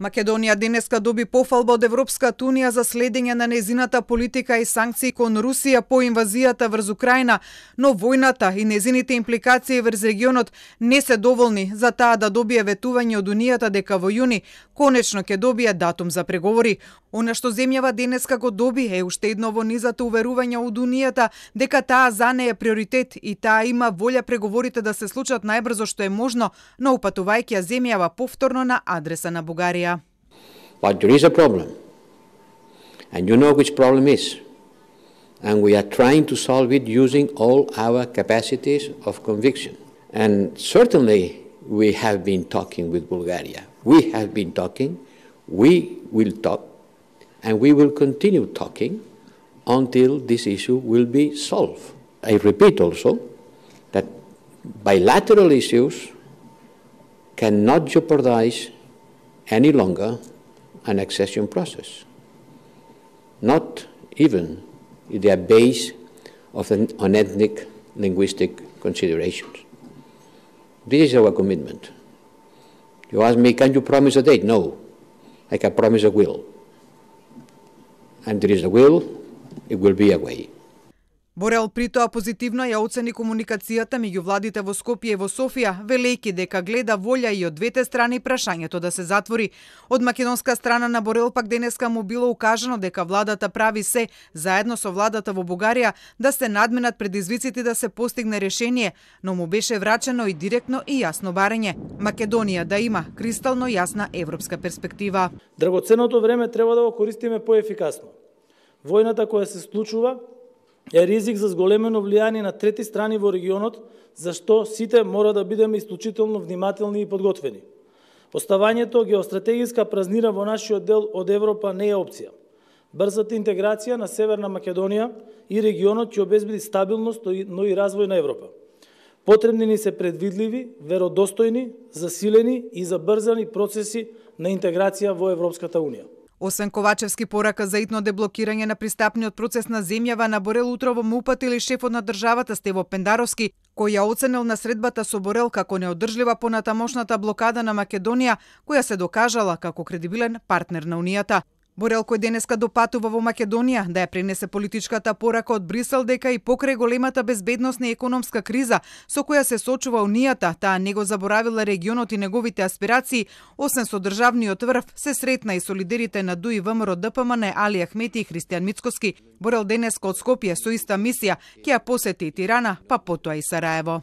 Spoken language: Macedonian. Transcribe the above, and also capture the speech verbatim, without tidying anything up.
Македонија денеска доби пофалба од Европската унија за следење на незината политика и санкции кон Русија по инвазијата врз Украина, но војната и незините импликации врз регионот не се доволни за таа да добие ветување од Унијата дека во јуни конечно ќе добие датум за преговори. Она што земјава денеска го доби е уште едно во низата уверување од Унијата дека таа за неја е приоритет и таа има волја преговорите да се случат најбрзо што е можно, но упатувајќи ја земјава повторно на адреса на Бугарија. But there is a problem, and you know which problem is, and we are trying to solve it using all our capacities of conviction. And certainly we have been talking with Bulgaria. We have been talking, we will talk, and we will continue talking until this issue will be solved. I repeat also that bilateral issues cannot jeopardize any longer an accession process, not even if they are based on ethnic linguistic considerations. This is our commitment. You ask me, can you promise a date? No, I can promise a will. And there is a will, it will be a way. Борел при тоа позитивно ја оцени комуникацијата меѓу владите во Скопје и во Софија, велејќи дека гледа волја и од двете страни прашањето да се затвори. Од македонска страна на Борел пак денеска му било укажано дека владата прави се, заедно со владата во Бугарија, да се надменат предизвиците да се постигне решение, но му беше врачено и директно и јасно барање. Македонија да има кристално јасна европска перспектива. Драгоценното време треба да го користиме поефикасно. Војната која се случува е ризик за зголемено влијание на трети страни во регионот, зашто сите мора да бидеме исклучително внимателни и подготвени. Оставањето геостратегиска празнина во нашиот дел од Европа не е опција. Брзата интеграција на Северна Македонија и регионот ќе обезбеди стабилност, но и развој на Европа. Потребни ни се предвидливи, веродостојни, засилени и забрзани процеси на интеграција во Европската Унија. Освен Ковачевски порака за итно деблокирање на пристапниот процес на земјава, на Борел утрово му упатили шефот на државата Стево Пендаровски, кој ја оценил на средбата со Борел како неодржлива понатамошната блокада на Македонија, која се докажала како кредибилен партнер на Унијата. Борел, кој денеска допатува во Македонија, да ја пренесе политичката порака од Брисел дека и покрај големата безбедносна и економска криза со која се сочува Унијата, таа не го заборавила регионот и неговите аспирации, освен со државниот врв се сретна и со лидерите на ДУ и ВМРО Д П М Н Али Ахмети и Христијан Мицкоски. Борел денеска од Скопје со иста мисија ќе ја посети и Тирана, па потоа и Сараево.